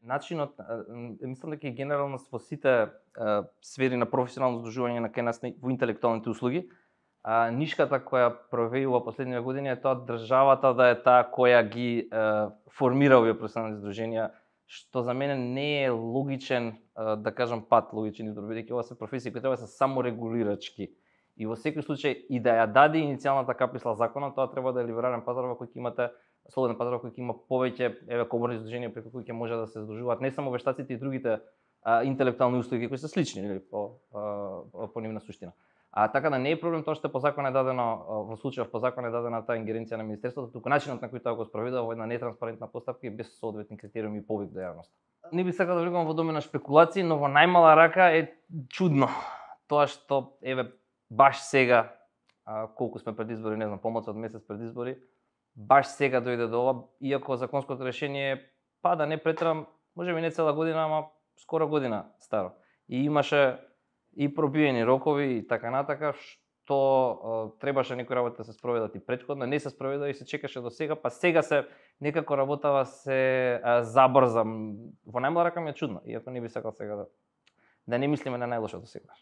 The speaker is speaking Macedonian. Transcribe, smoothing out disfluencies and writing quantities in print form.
Начинот, мислам дека генерално во сите сфери на професионално здружување на кај нас во интелектуалните услуги, нишката која проявува последниве години е тоа државата да е таа која ги формира овие професионални здруженија, што за мене не е логичен, да кажам, пат, логичен избор, бидејќи ова се професии кои треба да се саморегулирачки. И во секој случај и да ја даде иницијалната каписла законот, тоа треба да е либерален пазар во кој ќе имате слободен пазар кој ќе има повеќе коморни здруженија преку кои ќе може да се здружуваат не само вештаците и другите интелектуални услуги кои се слични, нели, по нивна суштина. Така да не е проблем тоа што по закон е дадено, во случајов по закон е дадена таа ингеренција на министерството, туку начинот на кој тоа го спроведува во една нетранспарентна постапка и без соодветни критериуми и повик до јавноста. Не би сакал да влегувам во домена шпекулации, но во најмала рака е чудно тоа што баш сега, колку сме пред избори, не знам, помалку од месец пред избори, баш сега дојде до ова, иако законското решение да не претерам, можеби не цела година, ама скоро година старо. И имаше и пробиени рокови и така натака, што требаше некои работи да се спроведат и претходно, не се спроведа и се чекаше до сега, па сега се некако работава се забрза. Во најмала рака ми е чудно, иако не би сакал сега да не мислиме на најлошото сега.